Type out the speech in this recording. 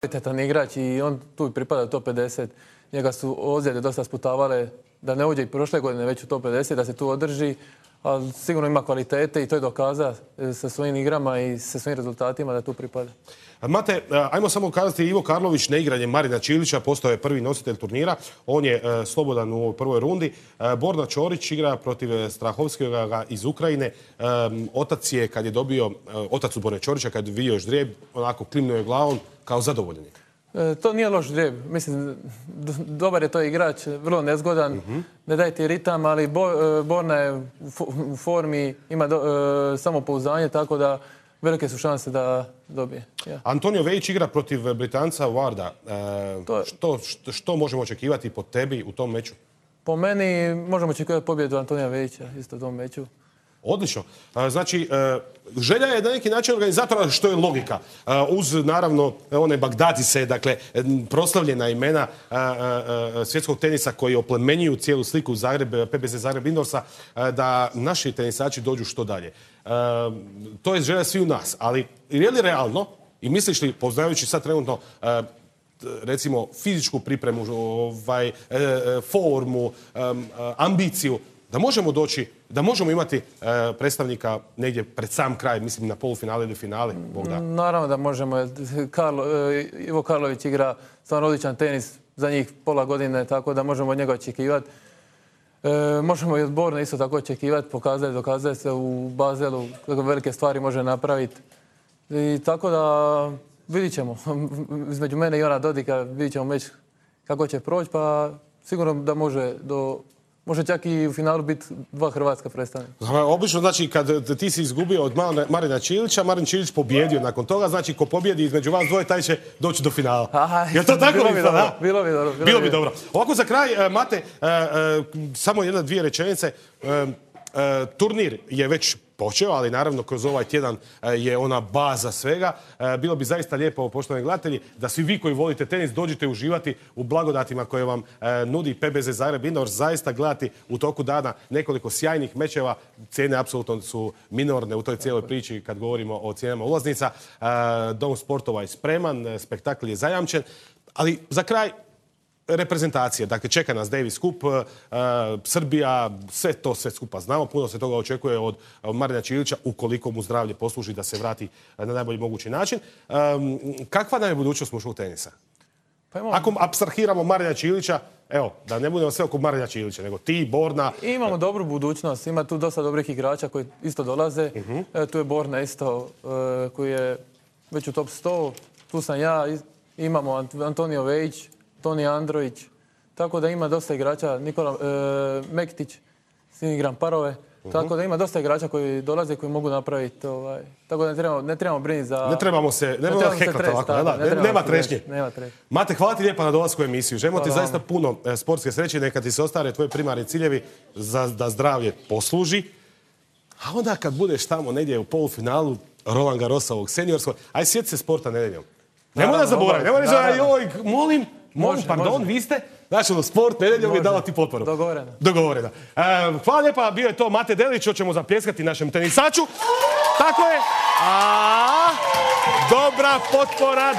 Kvalitetan igrač i on tu pripada u top 50. Njega su ozljede dosta sputavale da ne uđe i prošle godine već u top 50, da se tu održi, ali sigurno ima kvalitete i to je dokazao sa svojim igrama i sa svojim rezultatima da tu pripada. Mate, ajmo samo kazati, Ivo Karlović neigranjem Marina Čilića postao je prvi nositelj turnira. On je slobodan u ovoj prvoj rundi. Borna Ćorić igra protiv Strahovskega iz Ukrajine. Otac je, kad je dobio, otac u Borne Ćorića, kad je vidio ždrijeb, onako klimnuo je glavom kao zadovoljen. To nije loš ždrijeb. Mislim, dobar je to igrač, vrlo nezgodan, ne daje ti ritam, ali Borna je u formi, ima samopouzdanje, tako da velike su šanse da dobije. Ja. Antonio Vejić igra protiv Britanca Warda. Što možemo očekivati po tebi u tom meču? Po meni možemo očekivati pobjedu Antonija Vejića isto u tom meču. Odlično. Znači, želja je na neki način organizatora, što je logika. Uz, naravno, one Bagdadise, dakle, proslavljena imena svjetskog tenisa koji oplemenjuju cijelu sliku PBZ Zagreb Indorsa, da naši tenisači dođu što dalje. To je želja svi u nas, ali je li realno, i misliš li, poznajući sad trenutno recimo fizičku pripremu, formu, ambiciju, da možemo doći, da možemo imati predstavnika negdje pred sam kraj, mislim na polufinale ili finale, Bog da. Naravno da možemo. Ivo Karlović igra stvarno odličan tenis za njih pola godine, tako da možemo od njega očekivati. Možemo i od Borne isto tako očekivati, dokazuje se u Bazelu kako velike stvari može napraviti. I tako da vidit ćemo. Između mene i Ivana Dodika vidit ćemo meč kako će proći, pa sigurno da može čak i u finalu biti dva hrvatska predstavnika. Obično, znači, kad ti si izgubio od Marina Čilića, Marin Čilić pobjedio nakon toga, znači, ko pobjedi između vas dvoje, taj će doći do finala. Je to tako? Bilo bi dobro. Ovako za kraj, Mate, samo jedna, dvije rečenice. Turnir je već počeo, ali naravno kroz ovaj tjedan je ona baza svega. Bilo bi zaista lijepo, poštovani gledatelji, da svi vi koji volite tenis dođete uživati u blagodatima koje vam nudi PBZ Zagreb Indoors. Zaista gledati u toku dana nekoliko sjajnih mečeva. Cijene apsolutno su minorne u toj cijeloj priči kad govorimo o cijenama ulaznica. Dom sportova je spreman, spektakl je zajamčen, ali za kraj reprezentacije. Dakle, čeka nas Davis Cup, Srbija, sve skupa znamo. Puno se toga očekuje od Marina Čilića, ukoliko mu zdravlje posluži da se vrati na najbolji mogući način. Kakva nam je budućnost muškog tenisa? Ako apstrahiramo Marina Čilića, evo, da ne budemo sve oko Marina Čilića, nego ti, Borna. Imamo dobru budućnost, ima tu dosta dobrih igrača koji isto dolaze. Tu je Borna isto, koji je već u top 100. Tu sam ja, imamo Antonio Vejić, Toni Andrović, tako da ima dosta igrača, Nikola Mektić, s njim igram parove, tako da ima dosta igrača koji dolaze, koji mogu napraviti, tako da ne trebamo brinuti za... Ne trebamo se heklati ovako, nema trešnje. Mate, hvala ti lijepa na dolasku u emisiju. Želimo ti zaista puno sportske sreće, neka ti se ostvare tvoji primarni ciljevi da zdravlje posluži. A onda kad budeš tamo negdje u polufinalu Roland Garrosovog seniorskog, aj sjeti se sporta nedeljom. Nemoj da zaboravim, nemoj reći, molim, pardon, vi ste, znači sport nedeljom je dala ti potporu. Dogovoreno. Hvala lijepa, bio je to Mate Delić, hoćemo zapljeskati našem tenisaču. Tako je. Dobra potpora.